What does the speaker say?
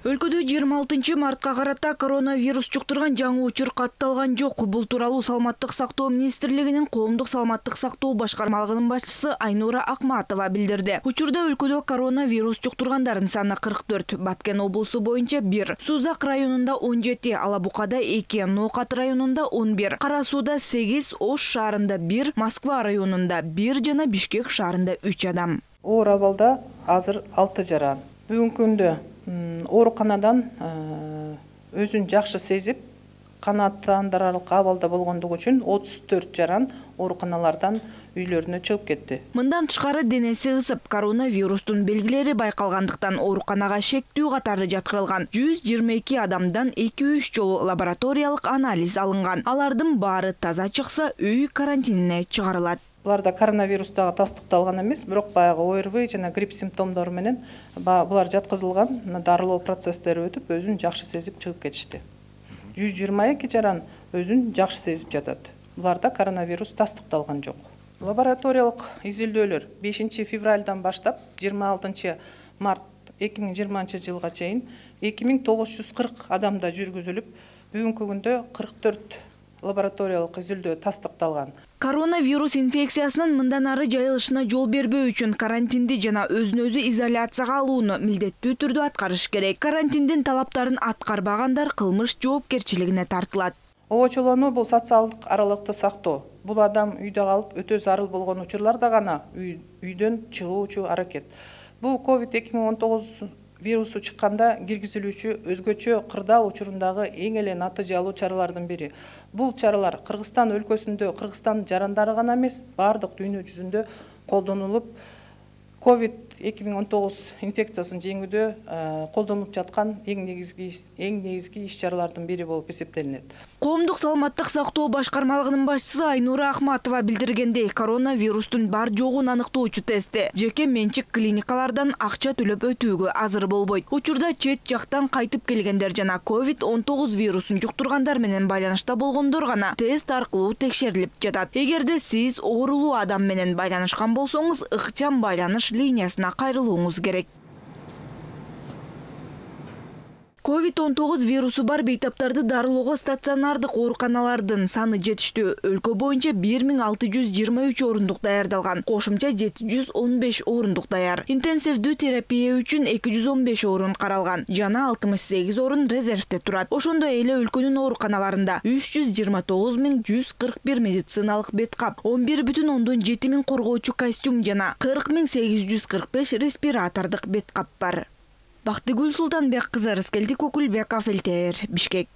Өлкөдө 26 мартка карата коронавирус жуктурган жаңы учур катталган жок. Бул тууралуу Саламаттык сактоо министрлигинин Коомдук саламаттык сактоо башкармалыгынын башчысы Айнура Акматова билдирди. Учурда өлкөдө коронавирус жуктургандардын саны 44, Баткен облусу боюнча 1, Сузак районунда 17, Алабукада 2, Ноокат районунда 11, Кара Сууда 8, Ош шаарында 1, Москва районунда 1 жана Бишкек шаарында 3 адам. Оор абалда азыр 6 жаран. Бүгүнкү күндө ооруканадан өзүн жакшы сезип, канааттандырарлык абалда болгондугу үчүн 34 жаран ооруканалардан үйлөрүнө чыгып кетти. Мындан тышкары денеси ысып, коронавирустун белгилери байкалгандыктан ооруканага шектүү катары жаткырылган 122 адамдан 2-3 жолу лабораториялык анализ алынган. Алардын баары таза чыкса, үй карантинине чыгарылат. Буларда коронавирус дагы тастыкталган эмес, бирок баягы ОРВИ жана грипп симптомдору менен булар жаткызылган, дарылоо процесстери өтүп, өзүн жакшы сезип чыгып кетишти. 122 жаран өзүн жакшы сезип жатат. Буларда коронавирус тастыкталган жок. Лабораториялык изилдөөлөр 5 февралдан баштап 26 март 2020 жылга чейин 2940 адамда жүргүзүлүп, бүгүнкү күндө 44 лабораториялык изилдөө тастыкталган. Коронавирус инфекциясынын мындан ары жайылышына жол бербөө үчүн карантинди жана өзүн-өзү изоляцияга алууну милдеттүү түрдө аткарыш керек. Карантиндин талаптарын аткарбагандар кылмыш жоопкерчилигине тартылат. Обочолонуу бул социалдык аралыкты сактоо. Бул адам үйдө калып өтө зарыл болгон учурларда гана үйдөн чыгуучу аракет. Бул COVID-2019 вирусу чыкканда киргизилүүчү өзгөчө кырдаал учурундагы эң эле натыйжалуу чаралардын бири. Бул чаралар Кыргызстан өлкөсүндө Кыргызстан жарандары гана эмес, бардык дүйнө жүзүндө колдонулуп, COVID-2019 инфекциясын жеңүүдө колдонулуп жаткан эң негизги иш-чаралардын бири болуп эсептелинет. Коомдук саламаттык сактоо башкармалыгынын башчысы Айнура Акматова билдиргендей, коронавирустун бар жогун аныктоочу тестти жеке менчик клиникалардан акча төлөп өтүүгө азыр болбойт. Учурда чет жактан кайтып келгендер жана COVID-19 вирусун жуктургандар менен байланышта болгондор гана тест аркылуу текшерилип жатат. Эгерде сиз оорулуу адам менен байланышкан болсоңуз, ыкчам байланыш линиясына кайрылууңуз керек. COVID-19 вирусу бар бейтаптарды дарылоого стационардык ооруканалардын саны жетиштүү. Өлкө боюнча 1623 орундук даярдалган, кошумча 715 орундук даяр. Интенсивдүү терапия үчүн 215 орун каралган, жана 68 орун резервде турат. Ошондой эле өлкөнүн ооруканаларында 329.141 медициналык бет кап, 11,7 коргоочу костюм жана 40.845 респиратордук бет кап бар. Бактыгүл Султанбек кызы, Рыскелди Кокулбеков, ЛТР, Бишкек.